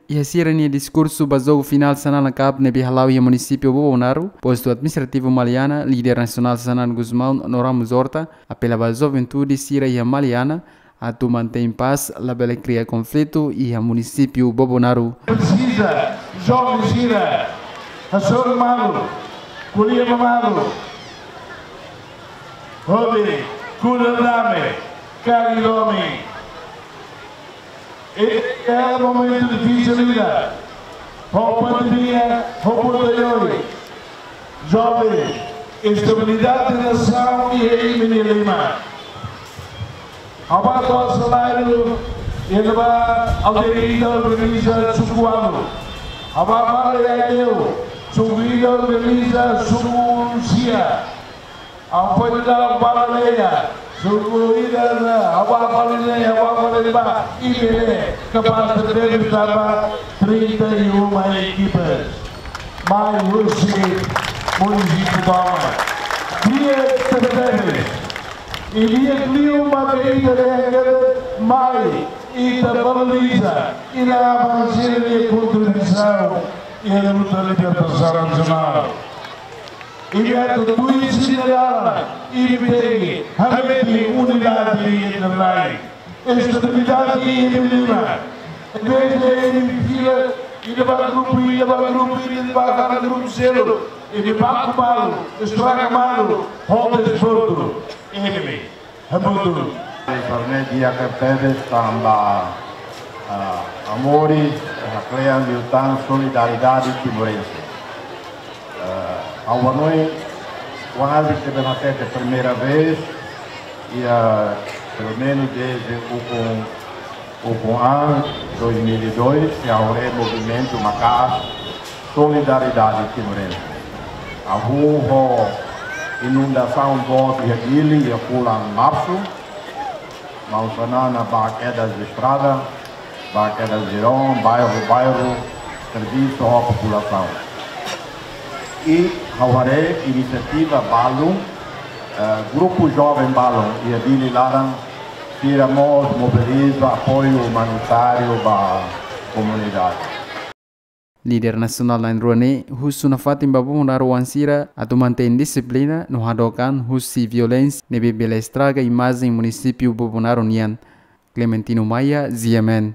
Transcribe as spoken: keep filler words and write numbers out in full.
Iha sira-nia diskursu ba jogu finál Xanana Cup ne'ebé hala'o iha munisípiu Bobonaro, postu administrativu Maliana, líder nasionál Xanana Gusmão no Ramos Horta apela ba juventude sira iha Maliana atu mantein pás, labele kria konflitu iha munisípiu Bobonaro. Presiza joven sira hasoru malu, ko'alia ba malu, hodi kuda dame, kari domin. Iha momentu difisil ida, ho pandemia, ho buat oioin. Joven, estabilidade nasaun iha imi-nia liman. Ha'u bá to'o saláriu, iha ne'ebá aldeia ida organiza suku ualu. Ha'u bá fali iha Aileu, suku ida organiza suku sia. Ha'u foin daudaun bá laleia, suku ida ne'e, ha'u bá fali ne'e, ha'u bá fali ne'ebá, imi ne'e kapás tebes tanba trinta e uma equipas. Mai husi munisípiu Bauman. Di'ak tebetebes. I di'ak liu mak ita dehan katak mai, ita valoriza, i la avansa nia kontribuisaun iha luta libertasaun nasionál. Imi atu tuir sira-nia laran, imi tenke hametin unidade entre laran. Estabilidade iha imi-nia liman. Em vez de imi fila, ida ba grupu, ida ba grupu, ida ba kada grupu seluk. Imi baku malu, estraga malu, ho desportu. Imi. Hamutuk. Informe di'ak tebes tanba, ah, Amoris, ah, klean liután solidariedade timorense. Ah, ha'u hanoin, kuaze ke bena tete primeira vez, i, ah, pelumenus dezde ukun ukun an dois mil e dois, iha ha'u-nia movimentu maka'as solidariedade timorense. Hahú ho inundasaun boot iha Dili, iha fulan Marsu, maun Xanana bá kedas estrada, bá kedas jirón, bairru, bairru, servisu ho populasaun. I ha'u haree inisiativa balun, eh, grupu joven balun iha Dili laran, sira mós mobiliza apoiu umanitáriu ba komunidade. Líder nasionál na'in-rua ne'e husu nafatin ba Bobonaro oan sira atu mantein dixiplina no hadook an husi violénsia ne'ebé bele estraga imajen munisípiu Bobonaro nian. Clementino Maia, G M N.